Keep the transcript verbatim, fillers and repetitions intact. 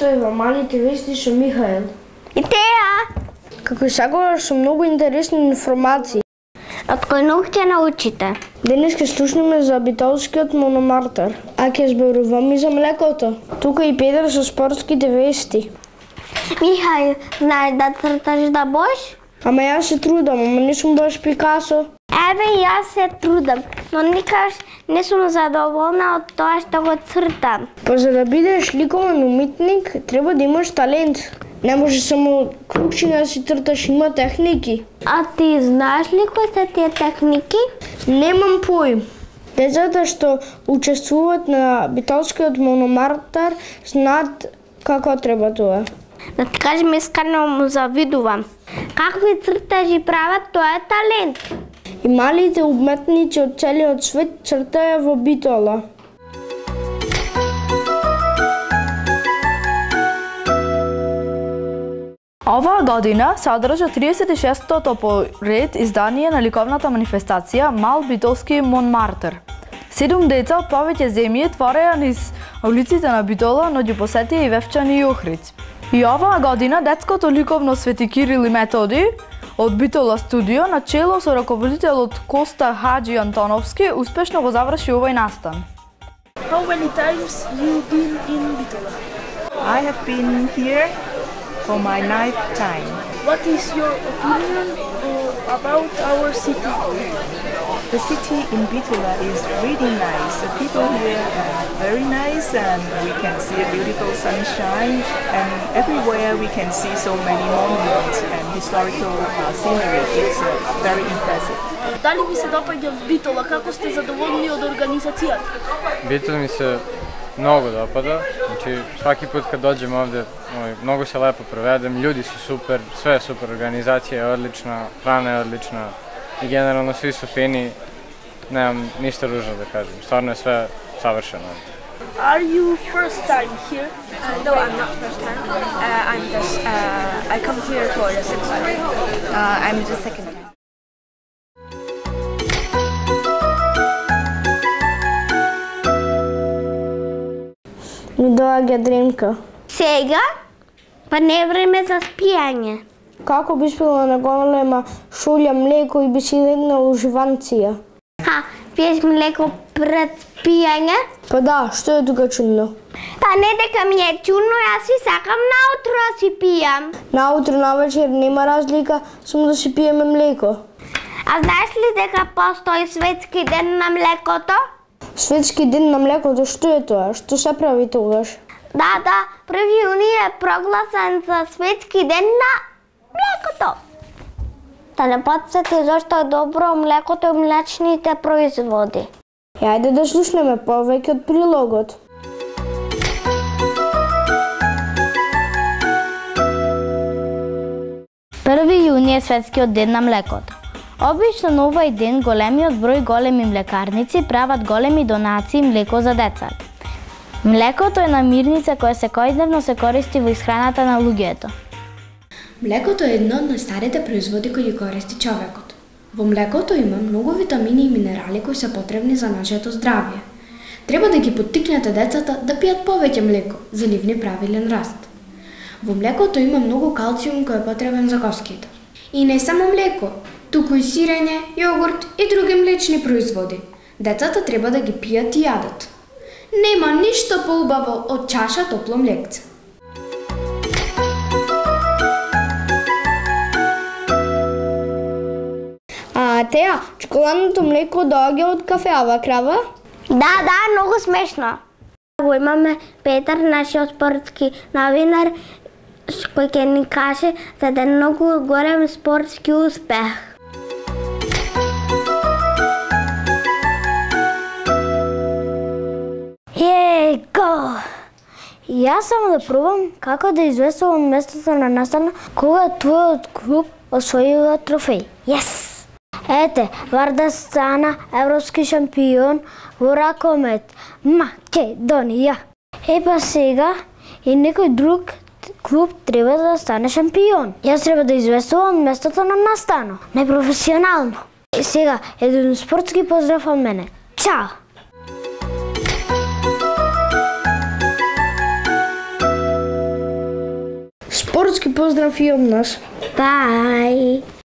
слушај во Малите вести со Михаел. И теа! Како и секогаш со многу интересни информации. Од кој наук ќе научите? Денес ќе слушнеме за битолскиот мономартер, а ќе зборуваме и за млекото. Тука и Петар со спортските вести. Михаил, знаеш да црташ да бош? Ама јас се трудам, ама не сум баш Пикасо. Еве, јас се трудам, но никаш не сум задоволна од тоа што го цртам. Па за да бидеш ликовен уметник, треба да имаш талент. Не може само клучиња да си црташ, има техники. А ти знаеш ли кои се тие техники? Немам поим. Децата што учествуваат на битолскиот мономартер знаат како треба тоа. Да ти кажем, искрено му завидувам. Какви цртажи прават, тоа е талент. И малите уметници од целиот свет цртаја во Битола. Оваа година се одржа триесет и шестото по ред издание на ликовната манифестација Мал битолски Монмартер. Седум деца од повеќе земји твореа низ улиците на Битола, но ги посетија и Вевчани и Охрид. И оваа година детското ликовно Свети Кирил и Методи од Битола студио на чело со раководителот Коста Хаджи Антоновски успешно го заврши овој настан. How many times you been in Bitola? I have been here for my ninth time. What is your opinion uh, about our city? The city in Bitola is really nice. The people here are very nice, and we can see a beautiful sunshine, and everywhere we can see so many monuments and historical uh, scenery. It's uh, very impressive. Дали ви се допаѓа в Битола? Како сте задоволни од организацијата? Битола ми се многу допада. Значи, сваки пат кога доđem овде, многу се лепо проведем, људи су супер, све е супер, организација е одлична, храна е одлична и генерално сви су фини. Немам ништа ружно да кажем, стварно е све савршено. Are you first time here? Uh, no, I'm not first time. Uh, I'm just, uh, I come here for the sixth time. Uh, I'm the second time. Ми доаѓа дремка. Сега? Па не е време за спијање. Како би спила на голема шолја млеко и би си легнал уживанција? Ха, пиеш млеко пред спијање? Па да, што е тука чудно? Па не дека ми е чудно, јас си сакам наутро да си пијам. Наутро, навечер нема разлика, само да си пиеме млеко. А знаеш ли дека постои светски ден на млекото? Светски ден на млекото, што е тоа? Што се прави тогаш? Да, да, први јуни е прогласен за светски ден на млекото. Да не подсети зашто е добро млекото и млечните производи. Јајде да слушнеме повеќе од прилогот. први јуни е светскиот ден на млекото. Обично на овој ден големиот број големи млекарници прават големи донации млеко за деца. Млекото е намирница која секојдневно се користи во исхраната на луѓето. Млекото е едно од најстарите производи кои ги користи човекот. Во млекото има многу витамини и минерали кои се потребни за нашето здравје. Треба да ги поттикнете децата да пијат повеќе млеко за нивни правилен раст. Во млекото има многу калциум кој е потребен за коските. И не само млеко, туку и сирење, јогурт и други млечни производи. Децата треба да ги пијат и јадат. Нема ништо поубаво од чаша топло млекце. А теа, чоколадното млеко доаѓа од кафеава крава? Да, да, многу смешно. Го имаме Петар, нашиот спортски новинар, кој ќе ни каже за еден многу голем спортски успех. Его! Јас само да пробам како да известувам местото на настана кога твојот клуб освојува трофеј. Јес! Ете, Варда стана европски шампион во ракомет. Македонија. Е па сега и некој друг клуб треба да стане шампион. Јас треба да известувам местото на настано. Непрофесионално. И сега, еден спортски поздрав од мене. Чао! Спортски поздрав и од нас. Bye.